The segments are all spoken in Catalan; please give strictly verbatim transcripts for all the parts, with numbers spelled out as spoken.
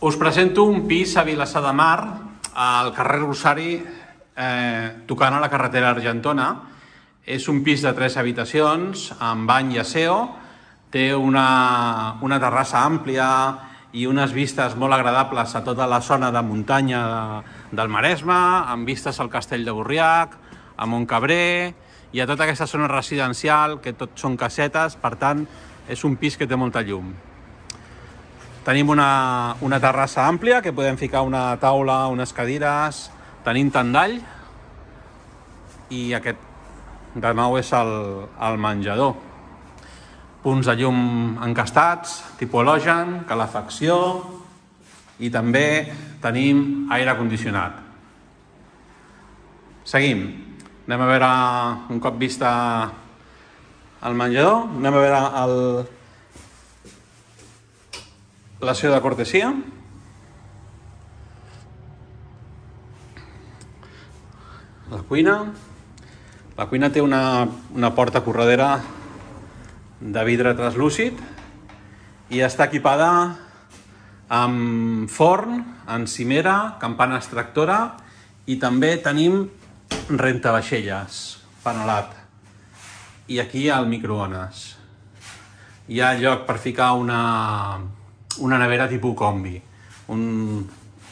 Us presento un pis a Vilassar de Mar, al carrer Rosari, eh, tocant a la carretera Argentona. És un pis de tres habitacions, amb bany i aseo. Té una, una terrassa àmplia i unes vistes molt agradables a tota la zona de muntanya de, del Maresme, amb vistes al Castell de Borriac, a Montcabrer i a tota aquesta zona residencial, que tot són casetes, per tant, és un pis que té molta llum. Tenim una, una terrassa àmplia, que podem ficar una taula, unes cadires, tenim tendall, i aquest, de nou, és el, el menjador. Punts de llum encastats, tipus halogen, calefacció, i també tenim aire condicionat. Seguim. Anem a veure, un cop vista el menjador, anem a veure el, l'aseo de cortesia. La cuina. La cuina té una, una porta corredera de vidre translúcid i està equipada amb forn, encimera, campana extractora i també tenim rentavaixelles, panolat. I aquí el microones. Hi ha lloc per ficar una, una nevera tipus combi, un,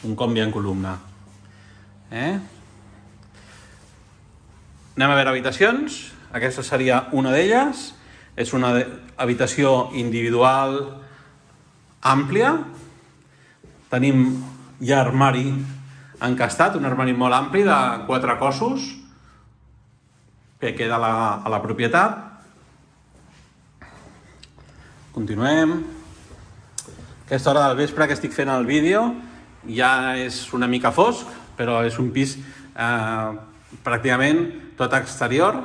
un combi en columna. Eh? Anem a veure habitacions. Aquesta seria una d'elles. És una habitació individual àmplia. Tenim ja armari encastat, un armari molt ampli de quatre cossos que queda a la, a la propietat. Continuem. Aquesta hora del vespre que estic fent el vídeo ja és una mica fosc, però és un pis eh, pràcticament tot exterior.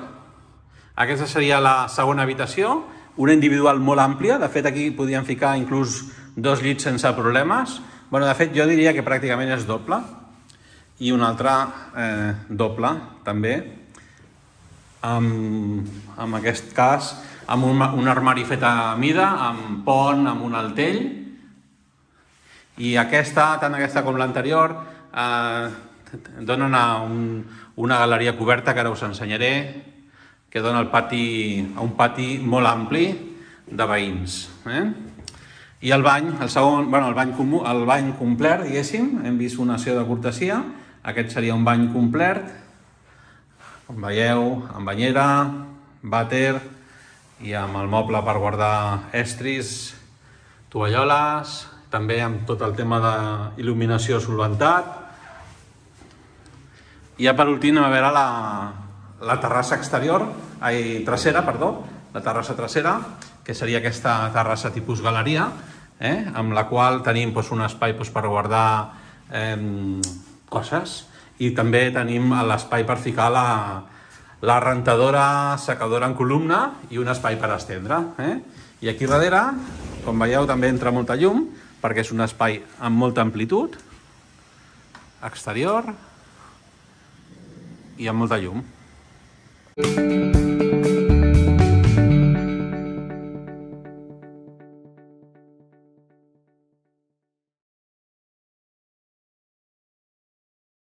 Aquesta seria la segona habitació, una individual molt àmplia. De fet, aquí podíem ficar inclús dos llits sense problemes. Bueno, de fet, jo diria que pràcticament és doble. I una altra eh, doble, també. Amb, en aquest cas, amb un, un armari fet a mida, amb pont, amb un altell. I aquesta, tant aquesta com l'anterior, eh, donen a un, una galeria coberta, que ara us ensenyaré, que dona al pati, a un pati molt ampli de veïns. Eh? I el bany, el segon, bueno, el bany comú, el bany complet, diguéssim, hem vist un aseo de cortesia, aquest seria un bany complet, com veieu, amb banyera, vàter, i amb el moble per guardar estris, tovalloles, també amb tot el tema d'il·luminació solventat. I ja per últim a veure la, la terrassa exterior, ai, trasera, perdó, la terrassa trasera, que seria aquesta terrassa tipus galeria, eh, amb la qual tenim doncs, un espai doncs, per guardar eh, coses, i també tenim l'espai per ficar la, la rentadora secadora en columna i un espai per estendre. Eh? I aquí darrere, com veieu, també entra molta llum, perquè és un espai amb molta amplitud, exterior, i amb molta llum.